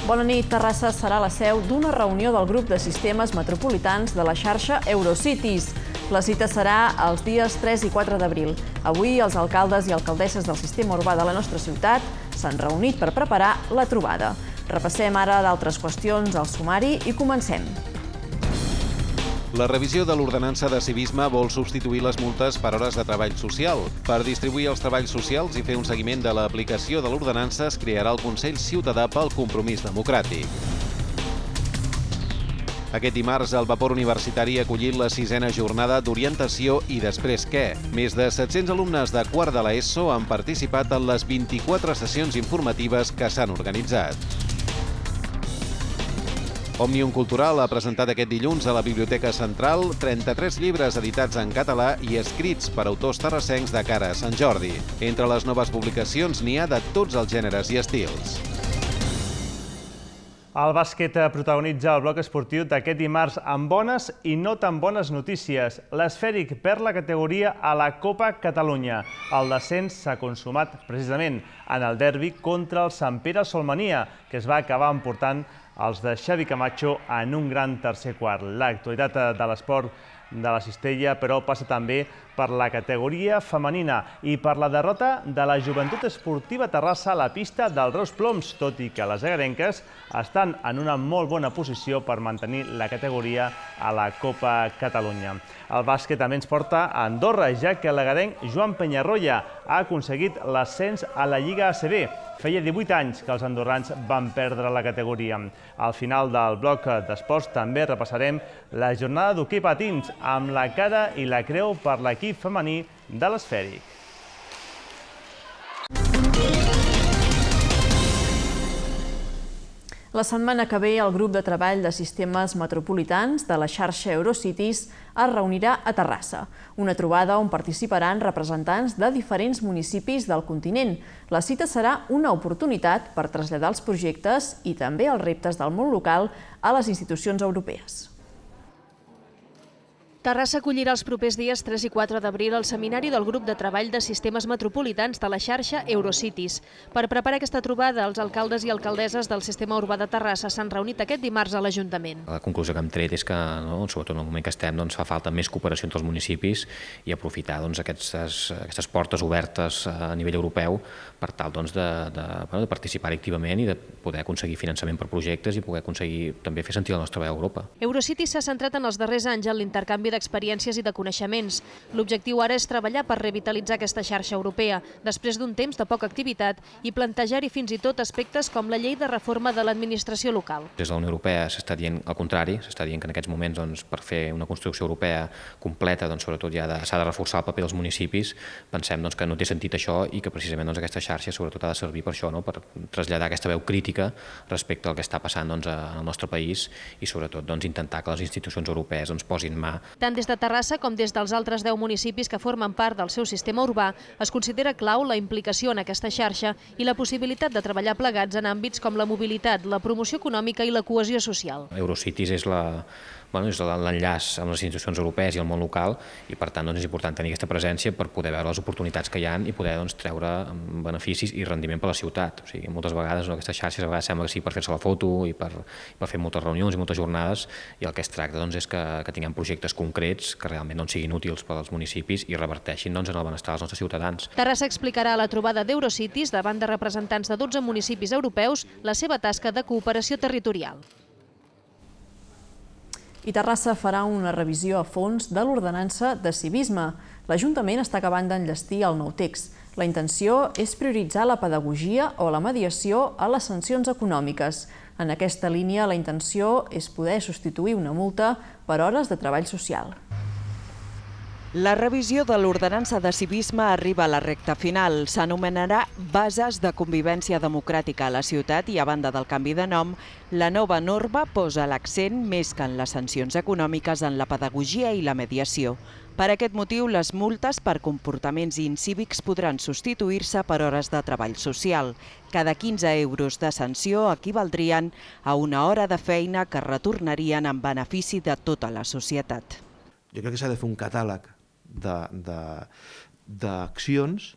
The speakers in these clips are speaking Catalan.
Bona nit. Terrassa serà la seu d'una reunió del grup de sistemes metropolitans de la xarxa Eurocities. La cita serà els dies 3 i 4 d'abril. Avui els alcaldes i alcaldesses del sistema urbà de la nostra ciutat s'han reunit per preparar la trobada. Repassem ara d'altres qüestions al sumari i comencem. La revisió de l'ordenança de civisme vol substituir les multes per hores de treball social. Per distribuir els treballs socials i fer un seguiment de l'aplicació de l'ordenança es crearà el Consell Ciutadà pel Compromís Democràtic. Aquest dimarts el Vapor Universitari ha acollit la 6a jornada d'orientació i després què? Més de 700 alumnes de quart de l'ESO han participat en les 24 sessions informatives que s'han organitzat. Òmnium Cultural ha presentat aquest dilluns a la Biblioteca Central 33 llibres editats en català i escrits per autors terrassencs de cara a Sant Jordi. Entre les noves publicacions n'hi ha de tots els gèneres i estils. El bàsquet protagonitza el bloc esportiu d'aquest dimarts amb bones i no tan bones notícies. L'Esfèric perd la categoria a la Copa Catalunya. El descens s'ha consumat precisament en el derbi contra el Sant Pere Solmenia, que es va acabar emportant els de Xavi Camacho en un gran tercer quart. L'actualitat de l'esport de la Cistella, però, passa també per la categoria femenina i per la derrota de la Joventut Esportiva Terrassa a la pista del Reus Ploms, tot i que les agarenques estan en una molt bona posició per mantenir la categoria a la Copa Catalunya. El bàsquet també ens porta a Andorra, ja que l'agarenc Joan Penyarroia ha aconseguit l'ascens a la Lliga ACB. Feia 18 anys que els andorrans van perdre la categoria. Al final del bloc d'esports també repassarem la jornada d'hoquei patins amb la cara i la creu per l'equip femení de l'Esfèric. La setmana que ve, el grup de treball de sistemes metropolitans de la xarxa Eurocities es reunirà a Terrassa. Una trobada on participaran representants de diferents municipis del continent. La cita serà una oportunitat per traslladar els projectes i també els reptes del món local a les institucions europees. Terrassa acollirà els propers dies 3 i 4 d'abril el seminari del grup de treball de sistemes metropolitans de la xarxa Eurocities. Per preparar aquesta trobada, els alcaldes i alcaldesses del sistema urbà de Terrassa s'han reunit aquest dimarts a l'Ajuntament. La conclusió que hem tret és que, sobretot en el moment que estem, fa falta més cooperació entre els municipis i aprofitar aquestes portes obertes a nivell europeu per tal de participar activament i de poder aconseguir finançament per projectes i poder aconseguir també fer sentir la nostra veu a Europa. Eurocities s'ha centrat en els darrers anys en l'intercanvi d'experiències i de coneixements. L'objectiu ara és treballar per revitalitzar aquesta xarxa europea, després d'un temps de poca activitat, i plantejar-hi fins i tot aspectes com la llei de reforma de l'administració local. Des de la Unió Europea s'està dient el contrari, s'està dient que en aquests moments per fer una construcció europea completa sobretot ja s'ha de reforçar el paper dels municipis. Pensem que no té sentit això i que precisament aquesta xarxa sobretot ha de servir per això, per traslladar aquesta veu crítica respecte al que està passant al nostre país i sobretot intentar que les institucions europees posin mà. Tant des de Terrassa com des dels altres 10 municipis que formen part del seu sistema urbà, es considera clau la implicació en aquesta xarxa i la possibilitat de treballar plegats en àmbits com la mobilitat, la promoció econòmica i la cohesió social. Eurocities és l'enllaç amb les institucions europees i el món local i per tant és important tenir aquesta presència per poder veure les oportunitats que hi ha i poder treure beneficis i rendiment per a la ciutat. Moltes vegades aquestes xarxes sembla que sí per fer-se la foto i per fer moltes reunions i moltes jornades i el que es tracta és que tinguem projectes concrets que realment siguin útils per als municipis i reverteixin en el benestar dels nostres ciutadans. Terrassa explicarà a la trobada d'Eurocities davant de representants de 12 municipis europeus la seva tasca de cooperació territorial. I Terrassa farà una revisió a fons de l'ordenança de civisme. L'Ajuntament està acabant d'enllestir el nou text. La intenció és prioritzar la pedagogia o la mediació a les sancions econòmiques. En aquesta línia, la intenció és poder substituir una multa per hores de treball social. La revisió de l'ordenança de civisme arriba a la recta final. S'anomenarà Bases de convivència democràtica a la ciutat i, a banda del canvi de nom, la nova norma posa l'accent, més que en les sancions econòmiques, en la pedagogia i la mediació. Per aquest motiu, les multes per comportaments incívics podran substituir-se per hores de treball social. Cada 15 euros de sanció equivaldrien a una hora de feina que retornarien en benefici de tota la societat. Jo crec que s'ha de fer un catàleg d'accions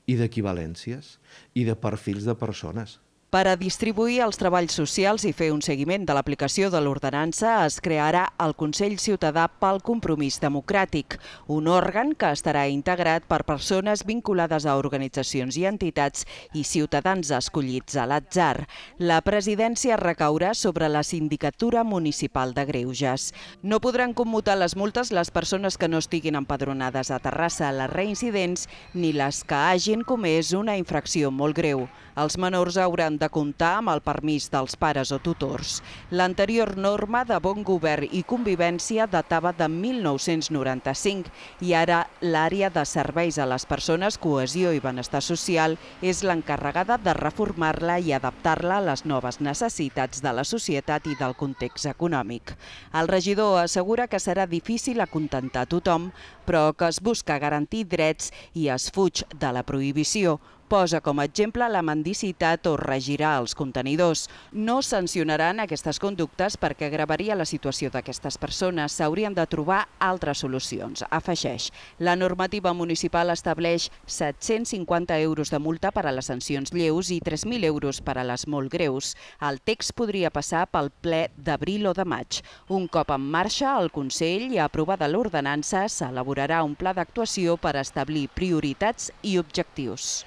i d'equivalències i de perfils de persones. Per a distribuir els treballs socials i fer un seguiment de l'aplicació de l'ordenança es crearà el Consell Ciutadà pel Compromís Democràtic, un òrgan que estarà integrat per persones vinculades a organitzacions i entitats i ciutadans escollits a l'atzar. La presidència recaurà sobre la Sindicatura Municipal de Greuges. No podran commutar les multes les persones que no estiguin empadronades a Terrassa, les reincidents, ni les que hagin comès una infracció molt greu. Els menors hauran de comptar amb el permís dels pares o tutors. L'anterior norma de bon govern i convivència datava de 1995 i ara l'àrea de serveis a les persones, cohesió i benestar social és l'encarregada de reformar-la i adaptar-la a les noves necessitats de la societat i del context econòmic. El regidor assegura que serà difícil acontentar tothom, però que es busca garantir drets i es fuig de la prohibició. Posa com a exemple la mendicitat o regirà els contenidors. No sancionaran aquestes conductes perquè agravaria la situació d'aquestes persones. S'haurien de trobar altres solucions, afegeix. La normativa municipal estableix 750 euros de multa per a les sancions lleus i 3.000 euros per a les molt greus. El text podria passar pel ple d'abril o de maig. Un cop en marxa, el Consell i aprovada l'ordenança s'elaborarà un pla d'actuació per establir prioritats i objectius.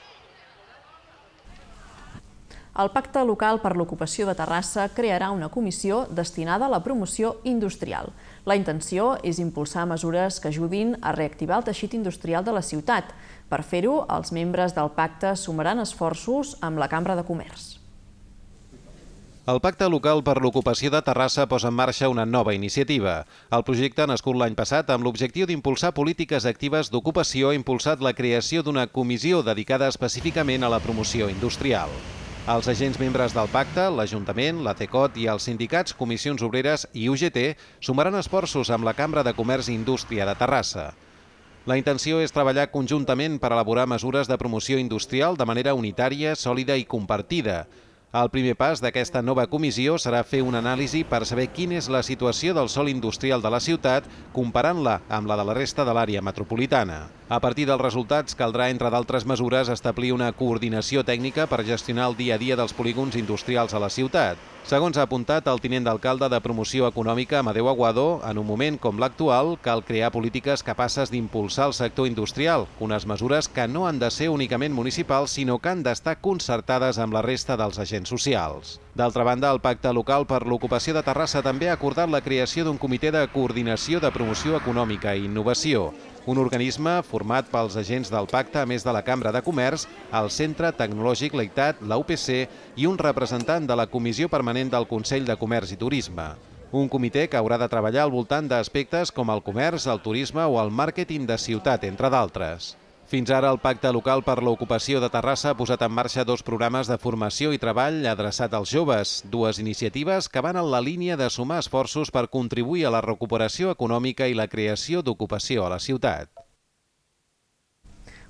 El Pacte Local per l'Ocupació de Terrassa crearà una comissió destinada a la promoció industrial. La intenció és impulsar mesures que ajudin a reactivar el teixit industrial de la ciutat. Per fer-ho, els membres del pacte sumaran esforços amb la Cambra de Comerç. El Pacte Local per l'Ocupació de Terrassa posa en marxa una nova iniciativa. El projecte, nascut l'any passat amb l'objectiu d'impulsar polítiques actives d'ocupació, ha impulsat la creació d'una comissió dedicada específicament a la promoció industrial. Els agents membres del pacte, l'Ajuntament, la CECOT i els sindicats, Comissions Obreres i UGT sumaran esforços amb la Cambra de Comerç i Indústria de Terrassa. La intenció és treballar conjuntament per elaborar mesures de promoció industrial de manera unitària, sòlida i compartida. El primer pas d'aquesta nova comissió serà fer una anàlisi per saber quina és la situació del sòl industrial de la ciutat, comparant-la amb la de la resta de l'àrea metropolitana. A partir dels resultats, caldrà, entre d'altres mesures, establir una coordinació tècnica per gestionar el dia a dia dels polígons industrials a la ciutat. Segons ha apuntat el tinent d'alcalde de Promoció Econòmica, Amadeu Aguado, en un moment com l'actual, cal crear polítiques capaces d'impulsar el sector industrial, unes mesures que no han de ser únicament municipals, sinó que han d'estar concertades amb la resta dels agents socials. D'altra banda, el Pacte Local per l'Ocupació de Terrassa també ha acordat la creació d'un comitè de coordinació de promoció econòmica i innovació, un organisme format pels agents del pacte, a més de la Cambra de Comerç, el Centre Tecnològic Leitat, la UPC i un representant de la Comissió Permanent del Consell de Comerç i Turisme. Un comitè que haurà de treballar al voltant d'aspectes com el comerç, el turisme o el màrqueting de ciutat, entre d'altres. Fins ara, el Pacte Local per l'Ocupació de Terrassa ha posat en marxa 2 programes de formació i treball adreçat als joves, 2 iniciatives que van en la línia de sumar esforços per contribuir a la recuperació econòmica i la creació d'ocupació a la ciutat.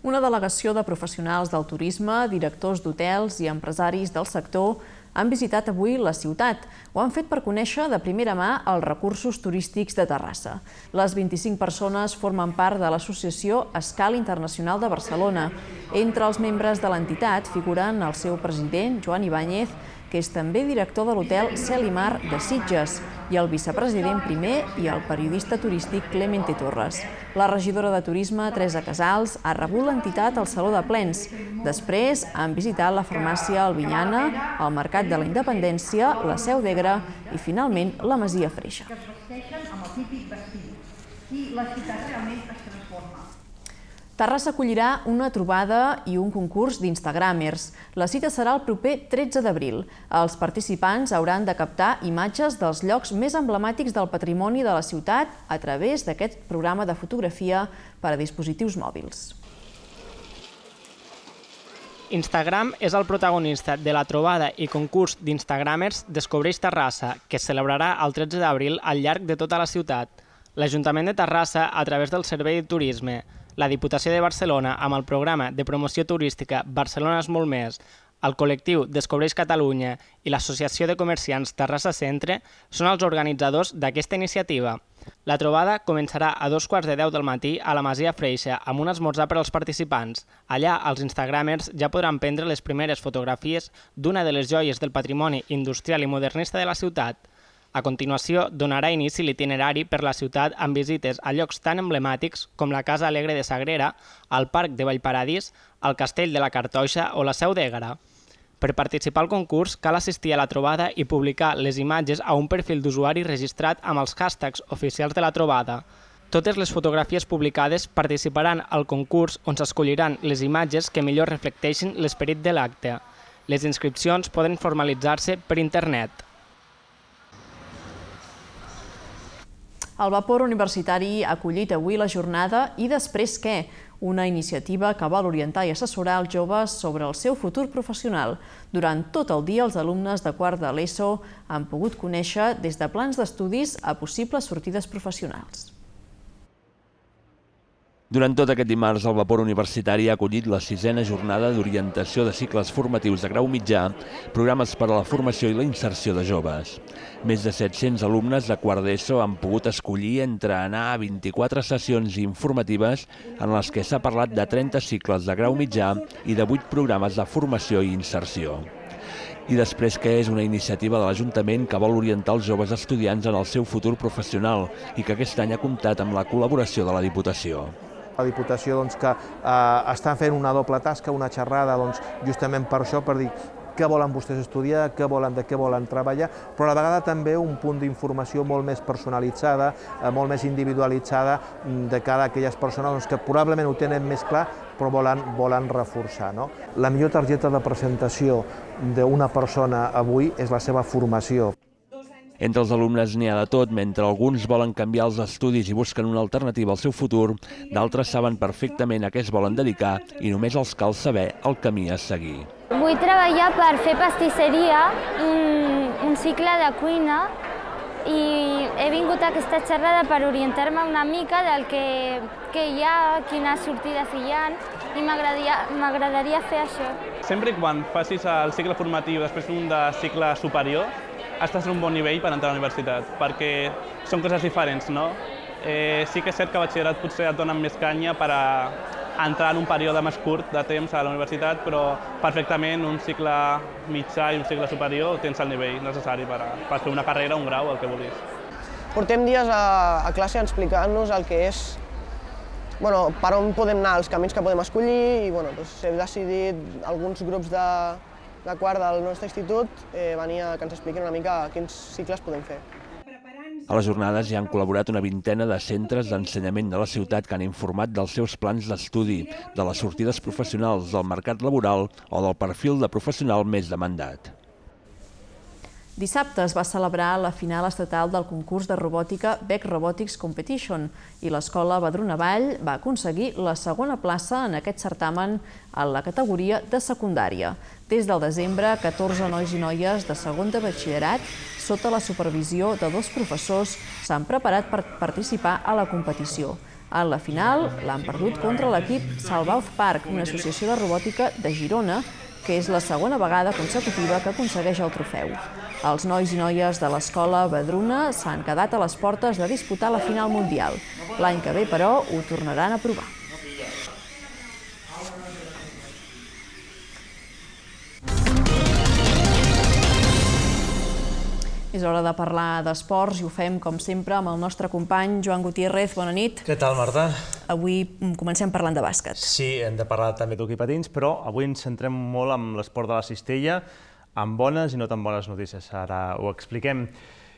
Una delegació de professionals del turisme, directors d'hotels i empresaris del sector han visitat avui la ciutat. Ho han fet per conèixer de primera mà els recursos turístics de Terrassa. Les 25 persones formen part de l'associació Escala Internacional de Barcelona. Entre els membres de l'entitat figuren el seu president, Joan Ibáñez, que és també director de l'hotel Cel i Mar de Sitges, i el vicepresident primer i el periodista turístic Clemente Torres. La regidora de Turisme, Teresa Casals, ha rebut l'entitat al Saló de Plens. Després han visitat la farmàcia Albinyana, el Mercat de la Independència, la Seu d'Egra i, finalment, la Masia Freixa. Que es vesteixen amb el típic vestit i la ciutat realment es transforma. Terrassa acollirà una trobada i un concurs d'Instagramers. La cita serà el proper 13 d'abril. Els participants hauran de captar imatges dels llocs més emblemàtics del patrimoni de la ciutat a través d'aquest programa de fotografia per a dispositius mòbils. Instagram és el protagonista de la trobada i concurs d'Instagramers Descobreix Terrassa, que es celebrarà el 13 d'abril al llarg de tota la ciutat. L'Ajuntament de Terrassa, a través del Servei de Turisme, la Diputació de Barcelona, amb el programa de promoció turística Barcelona és molt més, El col·lectiu Descobreix Catalunya i l'Associació de Comerciants Terrassa Centre són els organitzadors d'aquesta iniciativa. La trobada començarà a 2:15 del matí a la Masia Freixa amb un esmorzar per als participants. Allà, els instagramers ja podran prendre les primeres fotografies d'una de les joies del patrimoni industrial i modernista de la ciutat. A continuació, donarà inici l'itinerari per la ciutat amb visites a llocs tan emblemàtics com la Casa Alegre de Sagrera, el Parc de Vallparadís, el Castell de la Cartoixa o la Seu d'Ègara. Per participar al concurs cal assistir a la trobada i publicar les imatges a un perfil d'usuari registrat amb els hashtags oficials de la trobada. Totes les fotografies publicades participaran al concurs on s'escolliran les imatges que millor reflecteixin l'esperit de l'acte. Les inscripcions poden formalitzar-se per internet. El Vapor Universitari ha acollit avui la jornada I després què? Una iniciativa que vol orientar i assessorar els joves sobre el seu futur professional. Durant tot el dia, els alumnes de quart de l'ESO han pogut conèixer des de plans d'estudis a possibles sortides professionals. Durant tot aquest dimarts, el Vapor Universitari ha acollit la 6a jornada d'orientació de cicles formatius de grau mitjà, programes per a la formació i la inserció de joves. Més de 700 alumnes de quart d'ESO han pogut escollir entre anar a 24 sessions informatives en les que s'ha parlat de 30 cicles de grau mitjà i de 8 programes de formació i inserció. I després que és una iniciativa de l'Ajuntament que vol orientar els joves estudiants en el seu futur professional i que aquest any ha comptat amb la col·laboració de la Diputació. La Diputació que està fent una doble tasca, una xerrada justament per això, per dir què volen vostès estudiar, de què volen treballar, però a la vegada també un punt d'informació molt més personalitzada, molt més individualitzada de cada aquelles persones que probablement ho tenen més clar però volen reforçar. La millor targeta de presentació d'una persona avui és la seva formació. Entre els alumnes n'hi ha de tot, mentre alguns volen canviar els estudis i busquen una alternativa al seu futur, d'altres saben perfectament a què es volen dedicar i només els cal saber el camí a seguir. Vull treballar per fer pastisseria, un cicle de cuina, i he vingut a aquesta xerrada per orientar-me una mica del que hi ha, quines sortides hi ha, i m'agradaria fer això. Sempre quan facis el cicle formatiu després d'un de cicle superior, estàs en un bon nivell per entrar a la universitat, perquè són coses diferents, no? Sí que és cert que a batxillerat potser et donen més canya per entrar en un període més curt de temps a la universitat, però perfectament un cicle mitjà i un cicle superior tens el nivell necessari per fer una carrera, un grau, el que vulguis. Portem dies a classe explicant-nos el que és, per on podem anar, els camins que podem escollir, i hem decidit alguns grups de quart del nostre institut venir que ens expliquin una mica quins cicles podem fer. A les jornades hi han col·laborat una vintena de centres d'ensenyament de la ciutat que han informat dels seus plans d'estudi, de les sortides professionals, del mercat laboral o del perfil de professional més demandat. Dissabte es va celebrar la final estatal del concurs de robòtica Bec Robotics Competition i l'escola Badruna-Vall va aconseguir la segona plaça en aquest certamen en la categoria de secundària. Des del desembre, 14 nois i noies de segon de batxillerat, sota la supervisió de 2 professors, s'han preparat per participar a la competició. En la final l'han perdut contra l'equip Salvauz Park, una associació de robòtica de Girona, que és la segona vegada consecutiva que aconsegueix el trofeu. Els nois i noies de l'escola Badruna s'han quedat a les portes de disputar la final mundial. L'any que ve, però, ho tornaran a provar. És hora de parlar d'esports i ho fem, com sempre, amb el nostre company Joan Gutiérrez. Bona nit. Què tal, Marta? Avui comencem parlant de bàsquet. Sí, hem de parlar també d'hoquei patins, però avui ens centrem molt en l'esport de la cistella, amb bones i no tan bones notícies. Ara ho expliquem.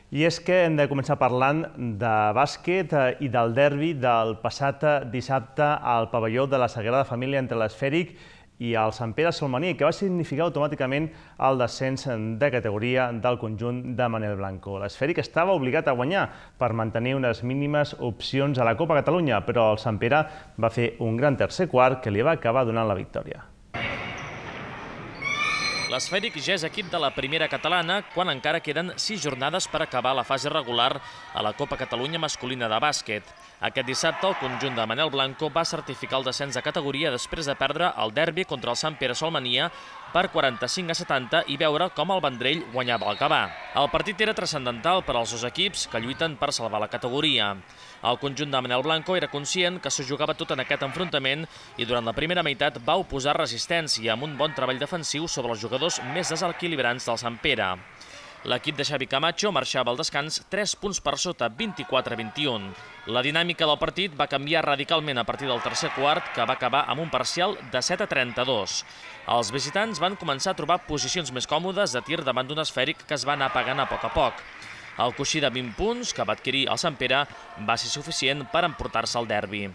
I és que hem de començar parlant de bàsquet i del derbi del passat dissabte al pavelló de la Sagrada Família entre l'Esfèric i el Sant Pere Salmaní, que va significar automàticament el descens de categoria del conjunt de Manel Blanco. L'Esfèric estava obligat a guanyar per mantenir unes mínimes opcions a la Copa Catalunya, però el Sant Pere va fer un gran tercer quart que li va acabar donant la victòria. L'Esfèric ja és equip de la primera catalana quan encara queden 6 jornades per acabar la fase regular a la Copa Catalunya masculina de bàsquet. Aquest dissabte, el conjunt de Manel Blanco va certificar el descens de categoria després de perdre el derbi contra el Sant Pere Solmania per 45-70 i veure com el Vendrell guanyava el Gavà. El partit era transcendental per als dos equips que lluiten per salvar la categoria. El conjunt de Manel Blanco era conscient que s'ho jugava tot en aquest enfrontament i durant la primera meitat va oposar resistència amb un bon treball defensiu sobre els jugadors més desequilibrants del Sant Pere. L'equip de Xavi Camacho marxava al descans 3 punts per sota, 24-21. La dinàmica del partit va canviar radicalment a partir del tercer quart, que va acabar amb un parcial de 7-32. Els visitants van començar a trobar posicions més còmodes de tir davant d'un esfèric que es va anar apagant a poc. El coixí de 20 punts que va adquirir el Sant Pere va ser suficient per emportar-se el derbi.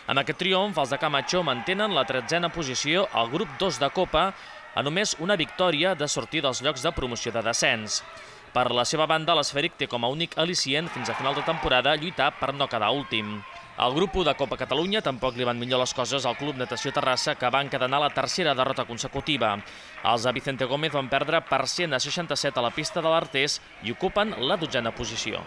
Amb aquest triomf, els de Camacho mantenen la 13a posició al grup 2 de Copa, a només una victòria de sortir dels llocs de promoció de descens. Per la seva banda, l'esfèric té com a únic al·licient fins a final de temporada lluitar per no quedar últim. Al grup 1 de Copa Catalunya tampoc li van millor les coses al Club Natació Terrassa, que va encadenar la tercera derrota consecutiva. Els de Vicente Gómez van perdre per 100-67 a la pista de l'Artés i ocupen la 12a posició.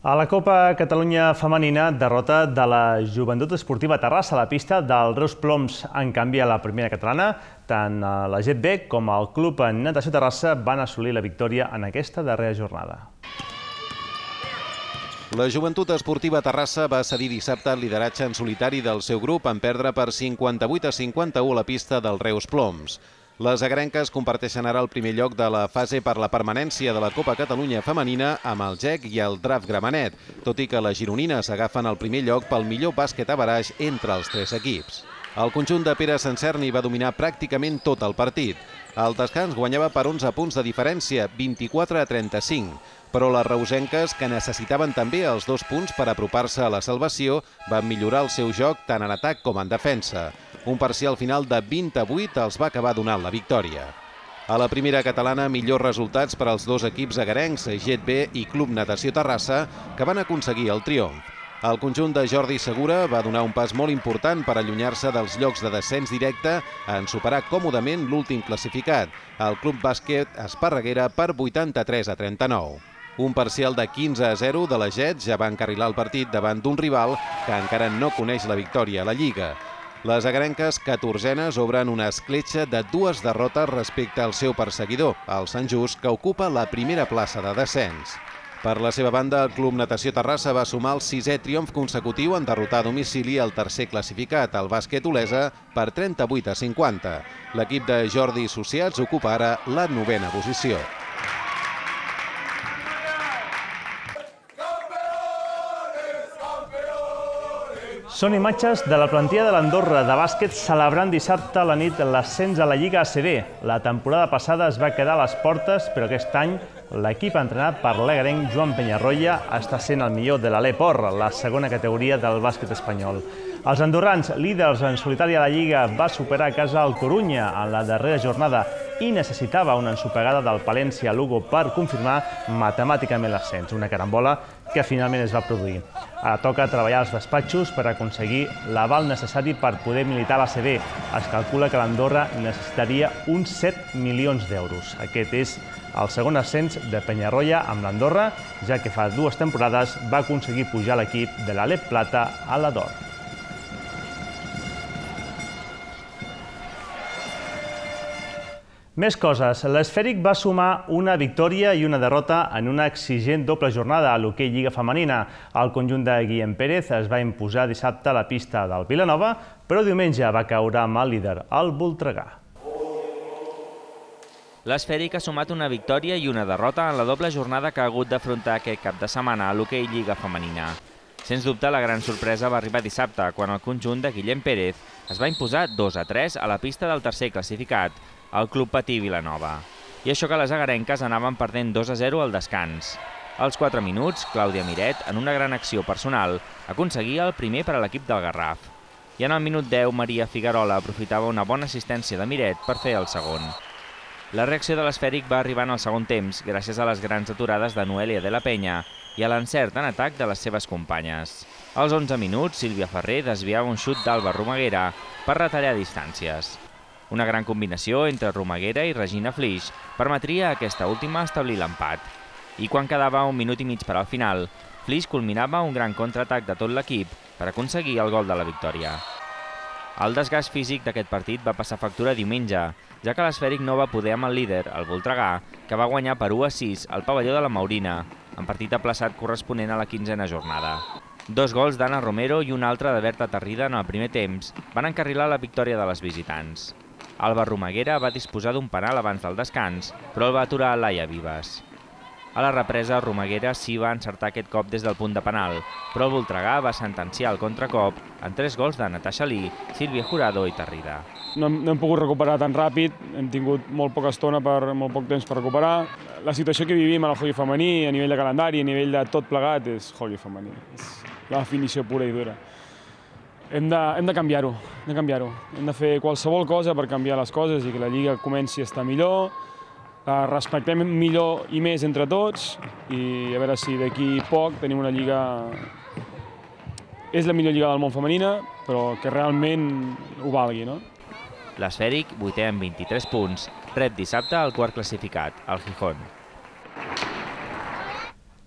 A la Copa Catalunya femenina, derrota de la Joventut Esportiva Terrassa a la pista del Reus Ploms. En canvi, a la primera catalana, tant la GetB com el Club Natació Terrassa van assolir la victòria en aquesta darrera jornada. La Joventut Esportiva Terrassa va cedir dissabte el lideratge en solitari del seu grup en perdre per 58-51 a la pista del Reus Ploms. Les agrenques comparteixen ara el primer lloc de la fase per la permanència de la Copa Catalunya femenina amb el GEC i el Draft Gramenet, tot i que les gironines agafen el primer lloc pel millor bàsquet a baraix entre els 3 equips. El conjunt de Pere Sancerni va dominar pràcticament tot el partit. El descans guanyava per 11 punts de diferència, 24-35, però les reusenques, que necessitaven també els 2 punts per apropar-se a la salvació, van millorar el seu joc tant en atac com en defensa. Un parcial final de 20-8 els va acabar donant la victòria. A la primera catalana, millors resultats per als dos equips agarencs, GetB i Club Natació Terrassa, que van aconseguir el triomf. El conjunt de Jordi Segura va donar un pas molt important per allunyar-se dels llocs de descens directe en superar còmodament l'últim classificat, el Club Bàsquet Esparreguera, per 83-39. Un parcial de 15-0 de la GET ja va encarrilar el partit davant d'un rival que encara no coneix la victòria a la Lliga. Les agrenques 14enes obren una escletxa de 2 derrotes respecte al seu perseguidor, el Sant Just, que ocupa la primera plaça de descens. Per la seva banda, el Club Natació Terrassa va sumar el 6è triomf consecutiu en derrotar a domicili el tercer classificat, el Bàsquet Olesa, per 38-50. L'equip de Jordi Associats ocupa ara la 9a posició. Són imatges de la plantilla de l'Andorra de bàsquet celebrant dissabte a la nit l'ascens a la Lliga ACB. La temporada passada es va quedar a les portes, però aquest any l'equip entrenat per l'egarenc Joan Peñarroya està sent el millor de l'Alepor, la segona categoria del bàsquet espanyol. Els andorrans, líders en solitari a la Lliga, va superar a casa el Corunya en la darrera jornada i necessitava una ensopegada del Palència a Lugo per confirmar matemàticament l'ascens, una carambola que finalment es va produir. Ara toca treballar als despatxos per aconseguir l'aval necessari per poder militar a l'ACB. Es calcula que l'Andorra necessitaria uns 7 milions d'euros. Aquest és el segon ascens de Peñarroya amb l'Andorra, ja que fa 2 temporades va aconseguir pujar l'equip de l'Alep Plata a la d'Or. Més coses. L'Esfèric va sumar una victòria i una derrota en una exigent doble jornada a l'hoquei Lliga Femenina. El conjunt de Guillem Pérez es va imposar dissabte a la pista del Vilanova, però diumenge va caure amb el líder, el Voltregà. L'Esfèric ha sumat una victòria i una derrota en la doble jornada que ha hagut d'afrontar aquest cap de setmana a l'hoquei Lliga Femenina. Sens dubte, la gran sorpresa va arribar dissabte, quan el conjunt de Guillem Pérez es va imposar 2-3 a la pista del tercer classificat, el Club Patí Vilanova. I això que les agarenques anaven perdent 2-0 al descans. Als 4 minuts, Clàudia Miret, en una gran acció personal, aconseguia el primer per a l'equip del Garraf. I en el minut 10, Maria Figuerola aprofitava una bona assistència de Miret per fer el segon. La reacció de l'Esfèric va arribar en el segon temps, gràcies a les grans aturades de Noelia de la Penya i a l'encert en atac de les seves companyes. Als 11 minuts, Sílvia Ferrer desviava un xut d'Alba Romaguera per retallar distàncies. Una gran combinació entre Romaguera i Regina Flix permetria a aquesta última establir l'empat. I quan quedava 1 minut i mig per al final, Flix culminava un gran contraatac de tot l'equip per aconseguir el gol de la victòria. El desgast físic d'aquest partit va passar factura diumenge, ja que l'Esfèric no va poder amb el líder, el Voltregà, que va guanyar per 1-6 al pavelló de la Maurina, en partit aplaçat corresponent a la 15a jornada. 2 gols d'Anna Romero i un altre de Berta Tarrida en el primer temps van encarrilar la victòria de les visitants. Alba Romaguera va disposar d'un penal abans del descans, però el va aturar Laia Vives. A la represa, Romaguera sí va encertar aquest cop des del punt de penal, però el Voltregà va sentenciar el contracop en 3 gols de Natasha Lee, Sílvia Jurado i Tarrida. No hem pogut recuperar tan ràpid, hem tingut molt poca estona, molt poc temps per recuperar. La situació que vivim en el hoquei femení, a nivell de calendari, a nivell de tot plegat, és hoquei femení. És la definició pura i dura. Hem de canviar-ho, hem de fer qualsevol cosa per canviar les coses i que la Lliga comenci a estar millor, respectem millor i més entre tots i a veure si d'aquí poc tenim una lliga... És la millor lliga del món femenina, però que realment ho valgui, no? L'Esfèric, 8è amb 23 punts, rep dissabte el quart classificat, el Gijón.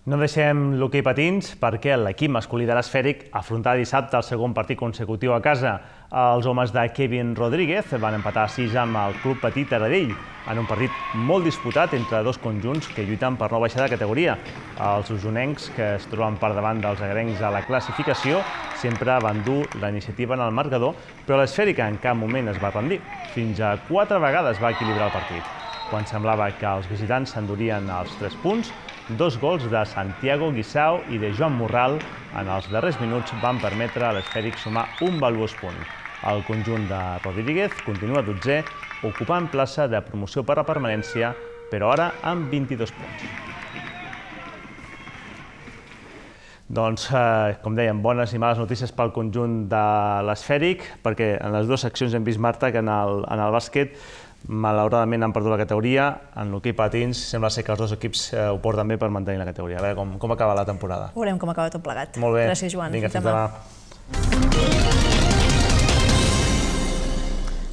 No deixem l'hoquei patins perquè l'equip masculí de l'Esfèric afrontarà dissabte el segon partit consecutiu a casa. Els homes de Kevin Rodríguez van empatar a 6 amb el Club Petit Taradell en un partit molt disputat entre dos conjunts que lluiten per no baixar de categoria. Els usonencs, que es troben per davant dels agrencs a la classificació, sempre van dur la iniciativa en el marcador, però l'Esfèric en cap moment es va rendir. Fins a 4 vegades va equilibrar el partit. Quan semblava que els visitants s'endurien els 3 punts, 2 gols de Santiago Guisao i de Joan Morral en els darrers minuts van permetre a l'Esfèric sumar un valuós punt. El conjunt de Rodríguez continua 12è, ocupant plaça de promoció per la permanència, però ara amb 22 punts. Doncs, com dèiem, bones i males notícies pel conjunt de l'Esfèric, perquè en les dues seccions hem vist, Marta, que en el bàsquet malauradament han perdut la categoria. En l'hoquei patins sembla ser que els dos equips ho porten bé per mantenir la categoria. A veure com acaba la temporada. Veurem com acaba tot plegat. Molt bé. Gràcies, Joan. Vinga, fins demà.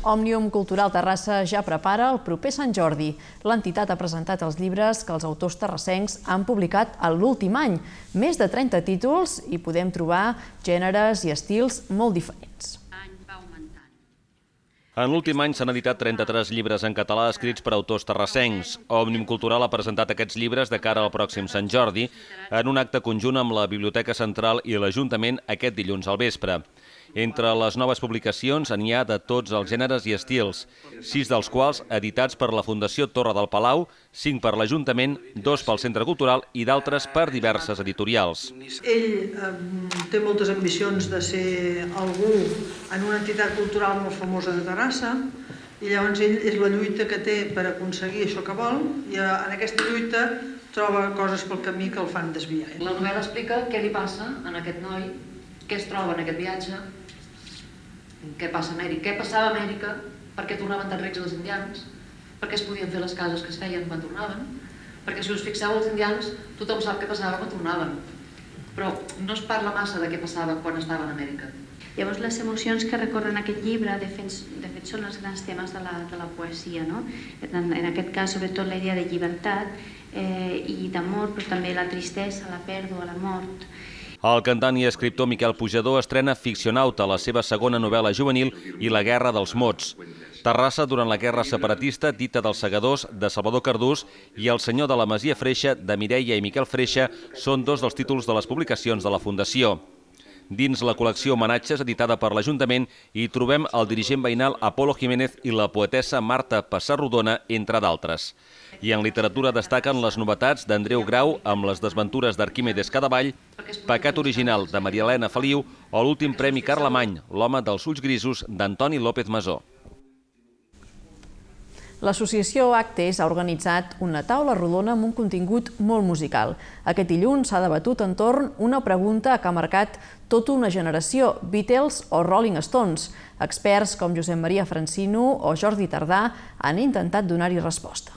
Òmnium Cultural Terrassa ja prepara el proper Sant Jordi. L'entitat ha presentat els llibres que els autors terrassencs han publicat en l'últim any. Més de 30 títols i podem trobar gèneres i estils molt diferents. En l'últim any s'han editat 33 llibres en català escrits per autors terrassencs. Òmnium Cultural ha presentat aquests llibres de cara al pròxim Sant Jordi en un acte conjunt amb la Biblioteca Central i l'Ajuntament aquest dilluns al vespre. Entre les noves publicacions n'hi ha de tots els gèneres i estils, 6 dels quals editats per la Fundació Torre del Palau, 5 per l'Ajuntament, 2 pel Centre Cultural i d'altres per diverses editorials. Ell té moltes ambicions de ser algú en una entitat cultural molt famosa de Terrassa i llavors ell és la lluita que té per aconseguir això que vol i en aquesta lluita troba coses pel camí que el fan desviar. La novel·la explica què li passa a aquest noi, què es troba en aquest viatge, què passa a Amèrica, què passava a Amèrica, per què tornaven tan rics els indians, per què es podien fer les cases que es feien quan tornaven, perquè si us fixeu els indians tothom sap què passava quan tornaven, però no es parla massa de què passava quan estaven a Amèrica. Llavors les emocions que recorren aquest llibre de fet són els grans temes de la poesia, no? En aquest cas sobretot la idea de llibertat i d'amor, però també la tristesa, la pèrdua, la mort. El cantant i escriptor Miquel Pujador estrena Ficcionauta, la seva segona novel·la juvenil i La guerra dels mots. Terrassa durant la guerra separatista, Dita dels segadors, de Salvador Cardús, i El senyor de la Masia Freixa, de Mireia i Miquel Freixa, són 2 dels títols de les publicacions de la Fundació. Dins la col·lecció Homenatges, editada per l'Ajuntament, hi trobem el dirigent veïnal Apolo Jiménez i la poetessa Marta Passarrodona, entre d'altres. I en literatura destaquen les novetats d'Andreu Grau amb les desventures d'Arquímedes Cadavall, Pecat original de Maria Elena Feliu o l'últim premi Carlemany, l'home dels ulls grisos d'Antoni López Masó. L'associació Actes ha organitzat una taula rodona amb un contingut molt musical. Aquest dilluns s'ha debatut entorn una pregunta que ha marcat tota una generació, Beatles o Rolling Stones. Experts com Josep Maria Francino o Jordi Tardà han intentat donar-hi resposta.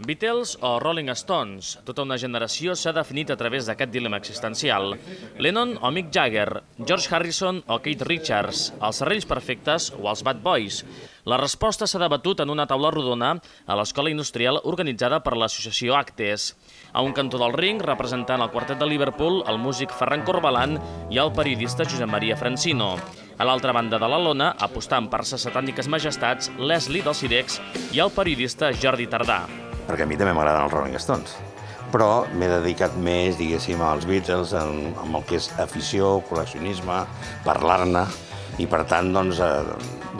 Beatles o Rolling Stones? Tota una generació s'ha definit a través d'aquest dilema existencial. Lennon o Mick Jagger? George Harrison o Keith Richards? Els Serrells Perfectes o els Bad Boys? La resposta s'ha debatut en una taula rodona a l'Escola Industrial organitzada per l'associació Actes. A un cantó del ring, representant el quartet de Liverpool, el músic Ferran Corbalan i el periodista Josep Maria Francino. A l'altra banda de la lona, apostant per ses satàniques majestats, Leslie del Cirex i el periodista Jordi Tardà. Perquè a mi també m'agraden els Rolling Stones, però m'he dedicat més, diguéssim, als Beatles, amb el que és afició, col·leccionisme, parlar-ne, i per tant, doncs,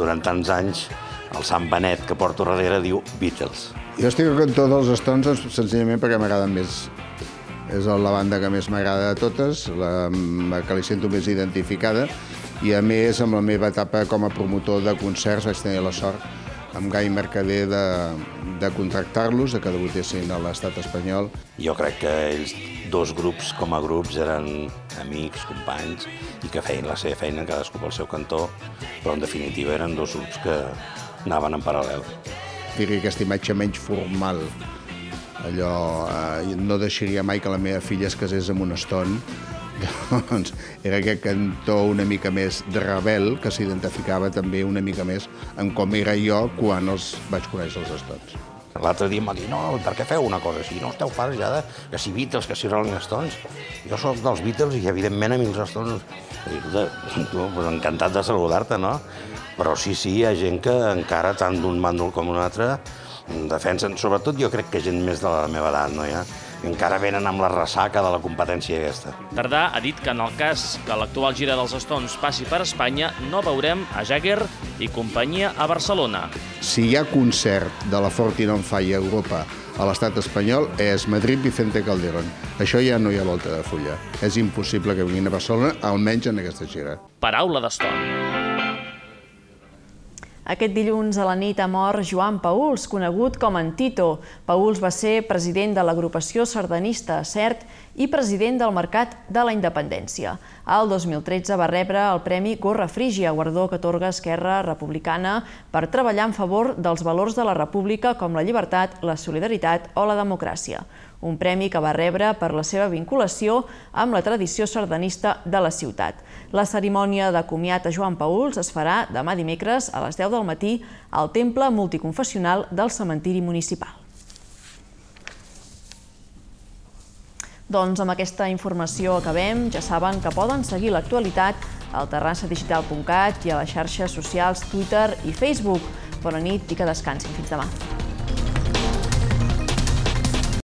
durant tants anys, el Sant Benet que porto darrere diu Beatles. Jo estic al cantó dels Stones senzillament perquè m'agraden més. És la banda que més m'agrada de totes, la que li sento més identificada, i a més, amb la meva etapa com a promotor de concerts, vaig tenir la sort amb Gai Mercader de contractar-los, que debutessin a l'estat espanyol. Jo crec que ells, dos grups com a grups, eren amics, companys, i que feien la seva feina, cadascú pel seu cantó, però en definitiva eren dos grups que anaven en paral·lel. Diria aquesta imatge menys formal. Allò, no deixaria mai que la meva filla es casés amb un Stone. Doncs era aquest cantó una mica més de rebel, que s'identificava també una mica més amb com era jo quan els vaig conèixer els Stones. L'altre dia em va dir, no, per què feu una cosa així? No esteu farts ja de que si Beatles, que si Rolling Stones. Jo soc dels Beatles i evidentment a mi els Stones... Encantat de saludar-te, no? Però sí, hi ha gent que encara, tant d'un bàndol com un altre, defensen, sobretot jo crec que gent més de la meva edat, no ja? Encara venen amb la ressaca de la competència aquesta. Tardà ha dit que en el cas que l'actual gira dels Stones passi per Espanya, no veurem a Jagger i companyia a Barcelona. Si hi ha concert de la Fortin on Fire a Europa a l'estat espanyol, és Madrid Vicente Calderón. Això ja no hi ha volta de fulla. És impossible que vinguin a Barcelona, almenys en aquesta gira. Paraula d'Stone. Aquest dilluns a la nit ha mort Joan Pauls, conegut com en Tito. Pauls va ser president de l'agrupació sardanista CERT i president del Mercat de la Independència. El 2013 va rebre el Premi Gorra Frígia, guardó que atorga Esquerra Republicana per treballar en favor dels valors de la República com la llibertat, la solidaritat o la democràcia. Un premi que va rebre per la seva vinculació amb la tradició sardanista de la ciutat. La cerimònia de comiat a Joan Pauls es farà demà dimecres a les 10 del matí al Temple Multiconfessional del Cementiri Municipal. Doncs amb aquesta informació acabem. Ja saben que poden seguir l'actualitat al terrassadigital.cat i a les xarxes socials Twitter i Facebook. Bona nit i que descansin. Fins demà.